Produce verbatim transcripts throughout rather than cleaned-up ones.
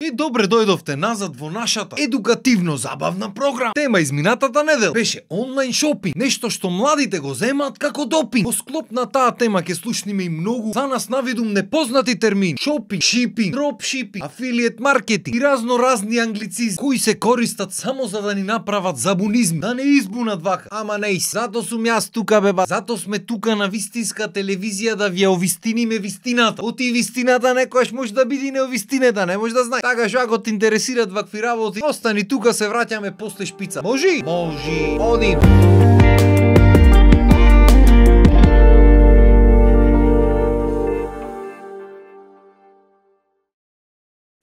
И добре дојдовте назад во нашата едукативно-забавна програма. Тема изминатата недела беше онлайн шопинг, нешто што младите го земаат како допинг. Во склоп на таа тема ќе слушниме и многу за нас навидум непознати термини: шопинг, шипинг, дропшипинг, афилиет маркетинг и разно разни англицизми кои се користат само за да ни направат забунизми, да не избунат вака. Ама не, зато сум јас тука, беба. Зато сме тука на вистинска телевизија да ви ја овистиниме вистината. Оти вистината некојаш може да биде неовистинета, не може да знае. Така што ако те интересират вакви работи, остани тука, се враќаме после шпица. Можи? Можи. Одим.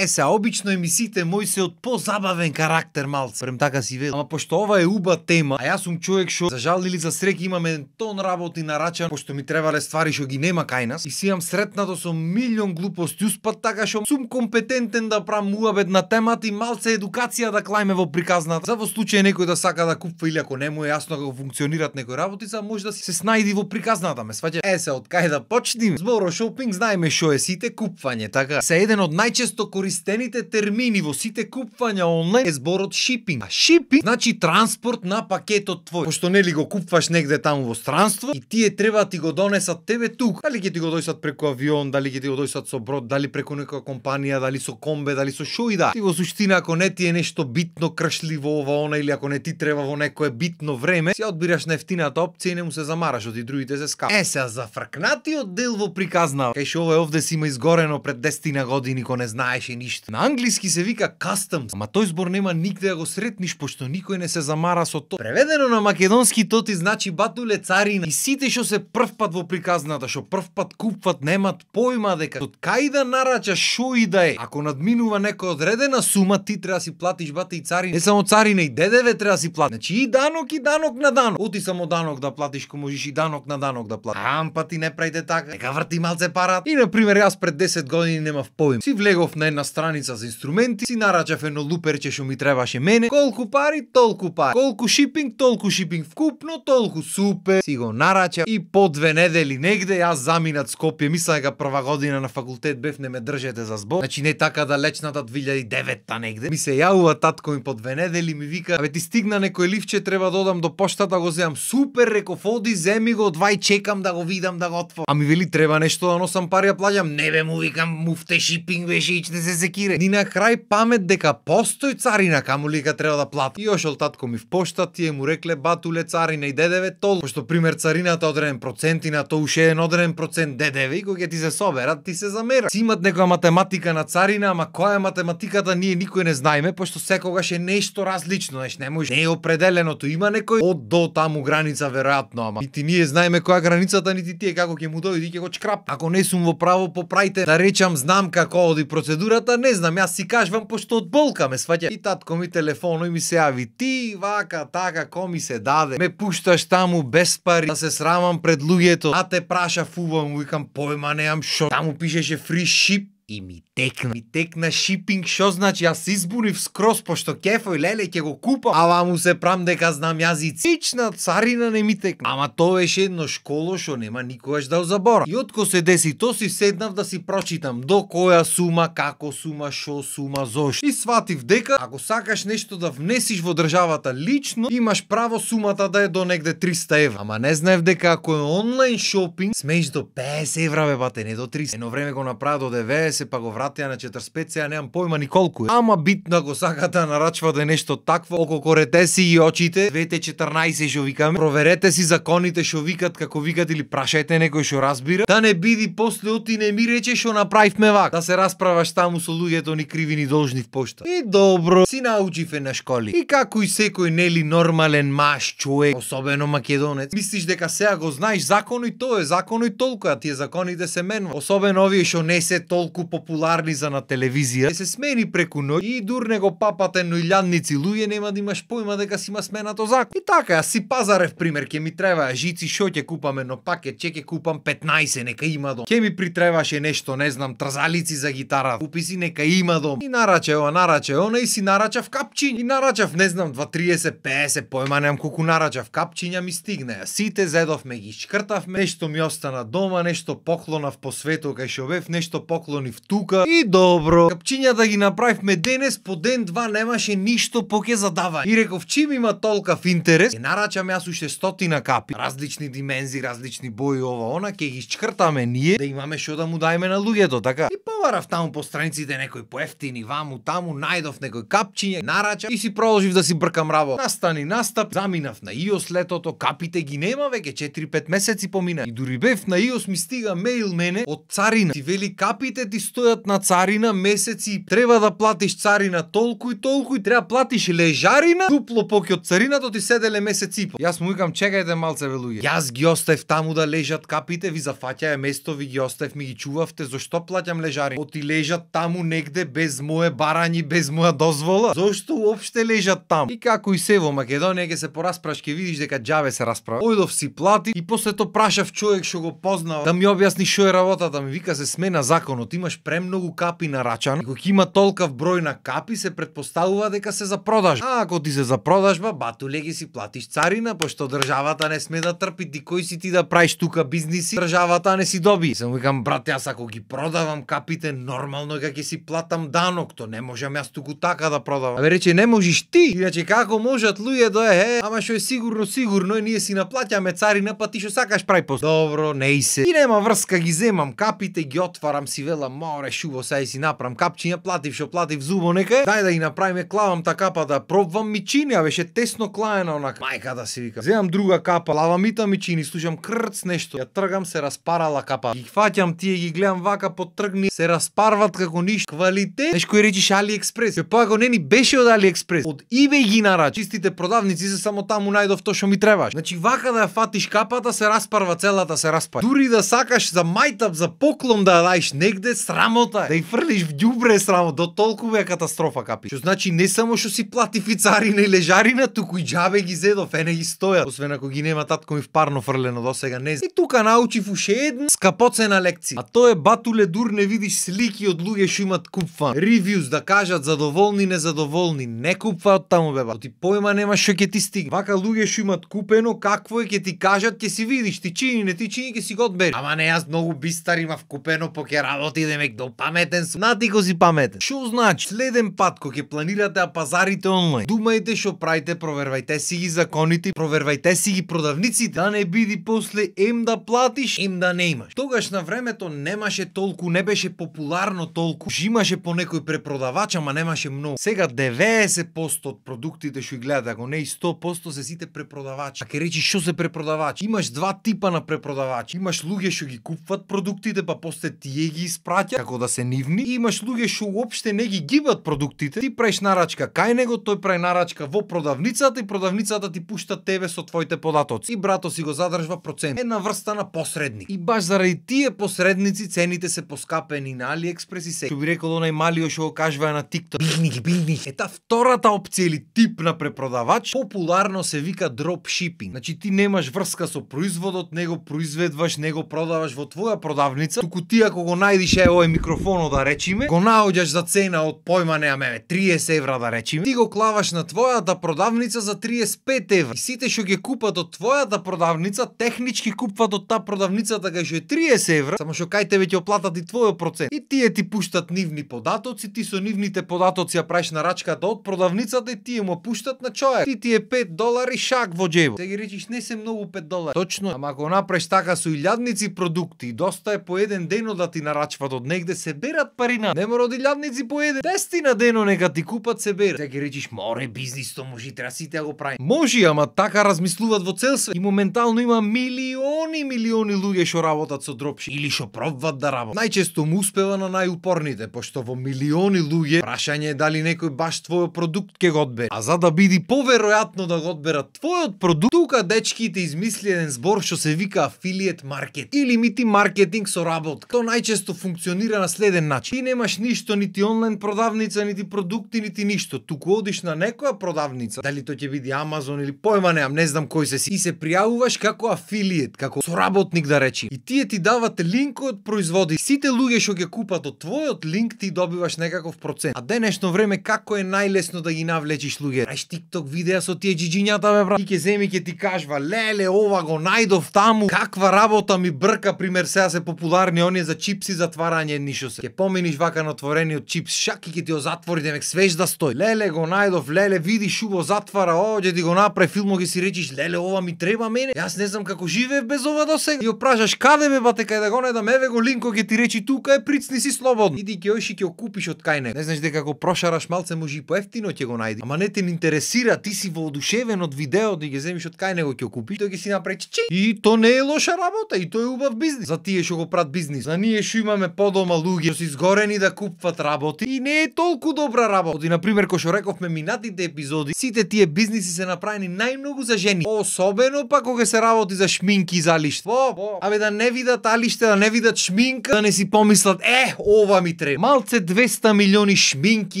Е, се, обично емисиите мои се од позабавен карактер малце. Прем така си вел. Ама пошто ова е уба тема, а јас сум човек што за жал или за среќа имаме тон работи нарачан, пошто ми требале ствари што ги нема кај нас. И си имам сретнато со милион глупости успат, така што сум компетентен да правам муабет на темата и малце едукација да клајме во приказната. За во случај некој да сака да купува или ако не му е јасно како функционираат некои работи, за може да се снајди во приказната, ме сваќа. Е, се, од кај да почнем? Зборо шопинг знаеме што е сите купвање, така. Се еден од најчесто користените термини во сите купвања онлайн е зборот шипинг. А шипинг значи транспорт на пакетот твој. Пошто нели го купуваш негде таму во странство и тие треба ти го донесат тебе тука. Дали ќе ти го дојсат преку авион, дали ќе ти го дојсат со брод, дали преку некоја компанија, дали со комбе, дали со шо и да. И во суштина ако не ти е нешто битно кршливо ова она или ако не ти треба во некое битно време, си одбираш на ефтината опција и не му се замараш, од и другите се скапи. Е, се за фркнатиот дел во приказна. Кај шо овој овде си има изгорено пред десет години кога не знаеше ништо. На англиски се вика customs, ама тој збор нема нигде да го сретниш пошто никој не се замара со тоа. Преведено на македонски тоти значи батуле царина. И сите што се прв пат во приказната, што прв пат купват, немат појма дека од кај да нарачаш шо и да е. Ако надминува некоја одредена сума, ти треба да си платиш бате и царина. Не само царина, и ДДВ треба да си платиш. Значи и данок и данок на данок. Оти само данок да платиш, ко можеш и данок на данок да платиш. Ам па ти не правите така. Нека врти малце парат. И на пример јас пред десет години немав поим. Си влегов на една страница за инструменти, си нарачав едно луперче што ми требаше мене. Колку пари, толку пари. Колку шипинг, толку шипинг вкупно, толку супер. Си го нарачав и по две недели негде јас заминат Скопје. Мислам дека прва година на факултет бев, не ме држете за збор. Значи не така далечната две илјади и девета негде. Ми се јавува татко ми по две недели, ми вика: "Абе ти стигна некој ливче, треба да одам до поштата, го земам." Супер, реков, оди, земи го, двај чекам да го видам, да го отворам. А ми вели треба нешто да носам пари, ја плаќам. Не бе, му викам, муфте шипинг беше и не се секире. Ни на крај памет дека постои царина, каму ли ка треба да плати. И ошол татко ми в пошта, тие му рекле: "Батуле, царина и ДДВ толку." Пошто пример царината одреден процент и на тоа уште еден одреден процент ДДВ и кога ќе ти се соберат, ти се замера. Си имат некоја математика на царина, ама која е математиката ние никој не знаеме, пошто секогаш е нешто различно, нешто не може. Не е определеното, има некој од до таму граница веројатно, ама нити ние знаеме која границата, нити тие како ќе му дојде и ќе го чкрап. Ако не сум во право, поправите. Да речам, знам како оди процедурата, не знам, јас си кажувам пошто од болка ме сваќа. И татко ми телефоно и ми се јави: "Ти вака така ко ми се даде, ме пушташ таму без пари, да се срамам пред луѓето, а те праша фуба." Му викам: "Појма немам шо." Таму пишеше free ship. И ми текна, ми текна шипинг, шо значи? Јас се избунив скроз, пошто кефој леле ќе го купам, ама му се прам дека знам јазицична царина не ми текна. Ама тоа беше едно школо што нема никогаш да забора. И отко се деси то, си седнав да си прочитам до која сума, како сума, шо сума, зошто. И сватив дека ако сакаш нешто да внесиш во државата лично, имаш право сумата да е до негде триста евра. Ама не знаев дека ако е онлайн шопинг, смееш до песет евра, бе бате, не до триста. Едно време го направи до деветдесет, па го вратија на четиридесет и пет, сега немам појма ни колку е. Ама битно ако сакате да нарачвате нешто такво, ококорете си и очите, двете четрнаесет што викаме, проверете си законите што викат, како викат, или прашајте некој што разбира, да не биди после оти не ми рече што направивме вак, да се расправаш таму со луѓето ни криви ни должни в пошта. И добро, си научиве на школи. И како и секој нели нормален маж човек, особено македонец, мислиш дека сега го знаеш законо и тоа е законо и толку, а тие законите се менуваат. Особено овие што не се толку популарни за на телевизија, се смени преку ноќ и дурне го папате но илјадници луѓе, нема да имаш појма дека си има сменато закон. И така, јас си пазарев пример, ќе ми треба жици, шо ќе купам едно пакет, ќе ќе купам петнаесет, нека има дом. Ќе ми притребаше нешто, не знам, трзалици за гитара, купи си, нека има дом. И нараче ова, нараче она и си нарачав капчиња. И нарачав, не знам, два триесет песет, појма немам колку нарачав капчиња, ми стигнеа. Сите зедовме ги шкртавме, нешто ми остана дома, нешто поклонав по свето кај шо бев, нешто поклонив тука и добро. Капчињата ги направивме денес, по ден два немаше ништо поке задавање. И реков, чим има толкав интерес, ќе нарачам јас уште стотина капи, различни димензии, различни бои, ова она, ќе ги чкртаме ние да имаме што да му дајме на луѓето, така. И поварав таму по страниците некој поевтини ваму таму, најдов некој капчиње, нарачам и си продолжив да си бркам работа. Настани настап, заминав на ИОС летото, капите ги нема веќе четири-пет месеци помина. И дури бев на ИОС, ми стига мејл мене од царина. Ти вели капите ти стојат на царина месеци, треба да платиш царина толку и толку и треба платиш лежарина дупло поќе од царината ти седеле месец и пол. Јас му викам, чекајте малце бе луѓе. Јас ги оставив таму да лежат капите, ви зафаќаја место, ви ги оставив, ми ги чувавте, зошто плаќам лежарина? Оти лежат таму негде без мое барањи, без моја дозвола. Зошто уопште лежат таму? И како и се во Македонија ќе се порасправаш, ќе видиш дека џабе се расправа. Ојдов си плати и после тоа прашав човек што го познава да ми објасни што е работата, ми вика се смена законот, имаш премногу капи на рачан, и кога има толкав број на капи се претпоставува дека се за продажба. А ако ти се за продажба, батуле ги си платиш царина, пошто државата не сме да трпи, ти кој си ти да правиш тука бизниси, државата не си доби. Сам викам, брат, јас ако ги продавам капите, нормално е дека ќе си платам данок, то не можам јас туку така да продавам. Абе рече, не можеш ти, иначе како можат луѓе да е, ама што е сигурно, сигурно е, ние си наплаќаме царина, па ти што сакаш прави пост. Добро, не и се. И нема врска, ги земам капите, ги отварам, си велам, море шубо, сај си направам капчиња, платив што платив зубо нека. Дај да ги направиме, клавам та капа да пробвам, ми чини, а беше тесно клаена онака. Мајка да се вика. Земам друга капа, лавам и та ми чини, слушам крц нешто. Ја тргам, се распарала капа. Ги фаќам тие, ги гледам вака потргни, се распарват како ништо. Квалитет. Нешто кој речиш AliExpress. Ке па го не ни беше од AliExpress. Од eBay ги нарач. Чистите продавници се само таму најдов тоа што ми требаш. Значи вака да ја фатиш капата, се распарва целата, се распарва. Дури да сакаш за мајтап, за поклон да ја даиш негде, срамота е. Да ја фрлиш в ѓубре срамо, до толку е катастрофа капи. Што значи не само што си плати царина и лежарина, туку и џабе ги зедов, ене ги стојат. Освен ако ги нема татко ми впарно фрлено досега, не знам. И тука научив уште една скапоцена лекција. А тоа е батуле дур не видиш слики од луѓе што имат купфан. Ревјуз да кажат задоволни, незадоволни, не купфаат таму беба. Ти појма немаш што ќе ти стигне. Вака луѓе што имат купено, какво е ќе ти кажат, ќе си видиш, ти чини, не ти чини, ќе си го одбери. Ама не, јас многу бистар имав купено, поке работи демек до паметен сум. Нати ко си паметен. Што значи? Следен пат кога ќе планирате да пазарите онлайн, думајте што правите, провервајте си ги законите, провервајте си ги продавниците, да не биди после ем да платиш, ем да не имаш. Тогаш на времето немаше толку, не беше популарно толку, имаше по некој препродавач, ама немаше многу. Сега деветдесет проценти од продуктите што ги гледате, ако не и сто проценти се сите препродавачи. А ке речи што се препродавачи? Имаш два типа на препродавачи. Имаш луѓе што ги купуват продуктите, па после тие ги испраќа како да се нивни. И имаш луѓе што уопште не ги гибат продуктите. Ти правиш нарачка кај него, тој прави нарачка во продавницата и продавницата ти пушта тебе со твоите податоци. И брато си го задржва процент. Една врста на посредник. И баш заради тие посредници цените се поскапени на AliExpress и се. Што би рекол онај малио што го кажува на TikTok. Билни ги, билни. Ета втората опција или тип на препродавач популарно се вика dropshipping. Значи ти немаш врска со производот, него произведуваш, него продаваш во твоја продавница, туку ти ако го најдиш е овој микрофонот да речиме, го наоѓаш за цена од појма неаме триесет евра да речиме, ти го клаваш на твојата продавница за триесет и пет евра. И сите што ги купат од твојата продавница, технички купат од таа продавницата кај што е триесет евра, само што кај тебе ќе оплатат и твојот процент. И тие ти пуштат нивни податоци, ти со нивните податоци ја правиш нарачката од продавницата и тие му пуштат на човек. Ти ти е пет долари шак во џебот. Те ги речиш не се многу пет долари. Точно, ама ако направиш така со илјадници продукти, доста е по еден дено да ти нарачват од негде, се берат парина. Не мора од илјадници по еден. Десетина дено нека ти купат, се берат. Те ги речиш, море бизнис то може, треба сите да го прави. Може, ама така размислуваат во цел свет. И моментално има милиони, милиони луѓе што работат со дропшип или што пробват да работат. Најчесто му успева на најупорните, пошто во милиони луѓе прашање е дали некој баш твојот продукт ќе го одбере. А за да биде поверојатно да го одберат твојот продукт, тука дечките измисли еден збор што се вика affiliate market или мити маркетинг со работка. Тоа најчесто функционира на следен начин. Ти немаш ништо, нити онлайн продавница, нити продукти, нити ништо. Туку одиш на некоја продавница, дали тоа ќе биде Amazon или појма немам, не знам кој се си, и се пријавуваш како affiliate, како соработник да речи. И тие ти дават линк од производи. Сите луѓе што ќе купат од твојот линк ти добиваш некаков процент. А денешно време како е најлесно да ги навлечиш луѓе? Праиш TikTok видеа со тие джиџињата бе брат. И ќе земи ќе ти кажува леле ова го најдов таму. Каква работа ми брка, пример сега се популарни оние за чипси затварање станање едни шо се. Ке поминиш вака на отворениот чипс шак и ке ти го затвори, демек свеж да стои. Леле го најдов, леле види шубо затвара, о, ќе ти го направи филмо, ќе си речиш, леле ова ми треба мене. Јас не знам како живеев без ова досега. И го прашаш каде бе бате, кај да го најдам, еве го линко, ќе ти речи тука е, прицни си слободно. Иди ќе оиш и ќе купиш од кај него. Не знаеш дека ако прошараш малце може и поевтино ќе го најди. Ама не те интересира, ти си воодушевен од видеото и ќе земиш од кај него ќе купиш, тој ќе си направи чи. И то не е лоша работа, и тоа е убав бизнис. За тие што го прават бизнис. За ние што имаме подома луѓе што се изгорени да купуват работи и не е толку добра работа. И на пример кој што рековме минатите епизоди, сите тие бизниси се направени најмногу за жени. Особено па кога се работи за шминки и за лиште. Во, во. Абе да не видат алиште, да не видат шминка, да не си помислат, е, ова ми треба. Малце двеста милиони шминки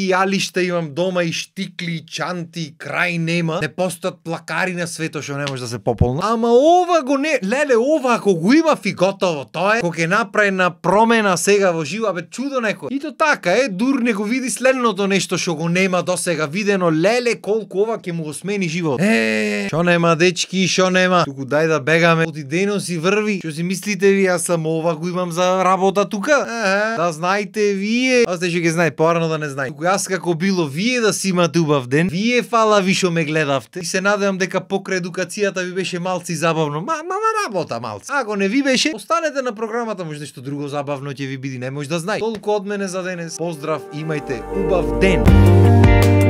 и алишта имам дома и штикли, и чанти, крај нема. Не постојат плакари на свето што не може да се пополнат. Ама ова го не, леле, ова ако го има и готово, тоа е кога ќе направи на промена сега во живо, бе чудо некој. И то така е, дур не го види следното нешто што го нема досега видено, леле колку ова ќе му го смени живот. Е, што нема дечки, што нема. Туку дај да бегаме, оти дено си врви. Што си мислите ви, јас сам ова го имам за работа тука? Е, да знаете вие. Аз те што ќе знае, порано да не знае. Туку јас како било вие да си имате убав ден. Вие фала ви што ме гледавте. И се надевам дека покрај едукацијата ви беше малци забавно. Ма, ма, ма работа малци. Ако не ви беше, останете на програмата, може нешто друго забавно ќе ви биде, не може да знае. Толку од мене за денес. Поздрав, имајте убав ден.